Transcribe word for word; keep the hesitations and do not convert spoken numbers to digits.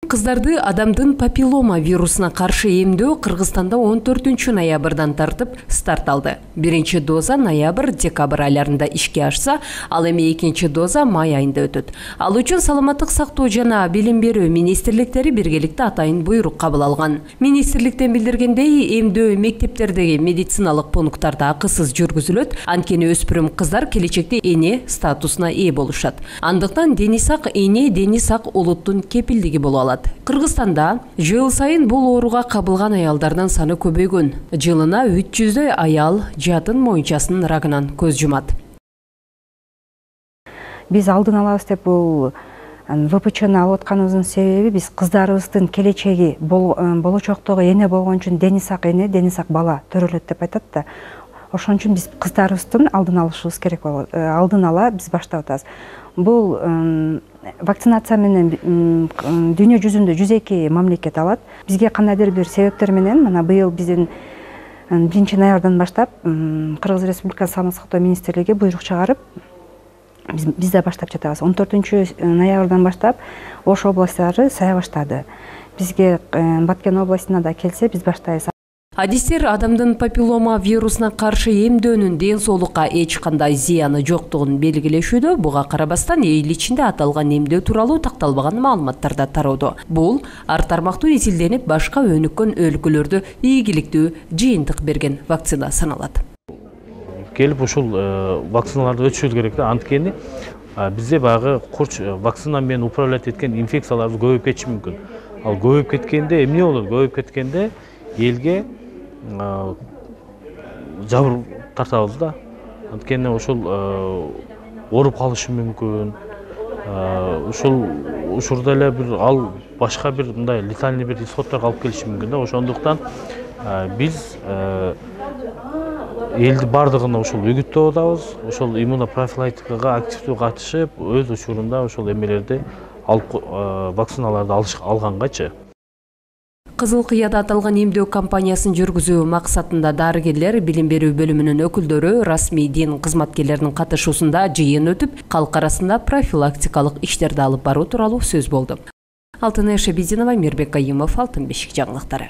Кыздарды адамдын папиллома вирусуна каршы эмдөө Кыргызстанда он төртүнчү ноябрдан тартып старт алды. Биринчи доза ноябрь-декабрь айларында ишке ашса, ал эми экинчи доза май айында өтөт. Ал үчүн саламаттык сактоо жана билим берүү министрликтери биргеликте атайын буйрук кабыл алган. Министрликтен билдиргендей, эмдөө мектептердеги медициналык пункттарда акысыз жүргүзүлөт, анткени өспүрүм кыздар келечекте эне статусуна ээ болушат. Андыктан дени сак эне, дени сак улуттун кепилдиги боло алат. Кыргызстанда жыл сайын бул ооруга кабылган аялдардын саны көбөйгөн. Жылына үч жүздөй аял жатын моюнчасынын рагынан көз жумат. Биз алдын алабыз деп бул вэ пэ чэни алып атканыбыздын себеби биз кыздарыбыздын келечеги болочоктогу эне болгон үчүн дени сак эне, дени сак бала төрөлөт деп айтат да. Ошон үчүн биз кыздарыбыздын алдын алышыбыз керек болот. Алдын ала биз баштап атабыз. Бул вакцинация менен дүйнө жүзүндө жүз эки мамлекет алат. Бизге кандайдыр бир себептер менен мына быйыл биздин биринчи ноябрдан баштап Кыргыз Республикасы Саламаттык сактоо министрлиги буйрук чыгарып, биз да баштап жатабыз. он төртүнчү ноябрдан баштап Ош областтары сая баштады. Бизге Баткен областына да келсе, биз баштайбыз. Адистер адамдын папиллома вирусуна каршы эмдөөнүн ден соолукка эч кандай зыяны жоктугун белгилешүүдө, буга карабастан эл ичинде аталган эмдөө тууралуу такталбаган маалыматтар да тароодо. Бул ар тармактуу изилденип, башка өнүккөн өлкөлөрдө ийгиликтүү жыйынтык берген вакцина саналат. Келип ушул вакциналарды өтүшүбүз керек да, анткени бизде баягы курч вакцина менен управлять эткен инфекциялар көбөйүп кетиши мүмкүн. Ал көбөйүп кеткенде эмне болот? Көбөйүп кеткенде элге жабыр тартабыз да. Анткени ошол ооруп калышы мүмкүн. Ушул учурда эле бир ал башка бир мындай летальный бир исходторго алып келиши мүмкүн да. Ошондуктан биз элди бардыгына ушул үгүттөп атабыз. Ошол иммунопрофилактикага активдүү катышып, өз учурунда ошол эмелерди алып вакциналарды алгангачы. Кызыл Кыяда аталган эмдөө кампаниясын жүргүзүү максатында дарыгерлер, билим берүү бөлүмүнүн өкүлдөрү, расмий дин кызматкерлеринин катышуусунда жыйын өтүп, калк арасында профилактикалык иштерди алып баруу тууралуу сөз болду. Алтынай Шабидинова, Мирбек Кайымов, Алтын бешик жаңылыктары.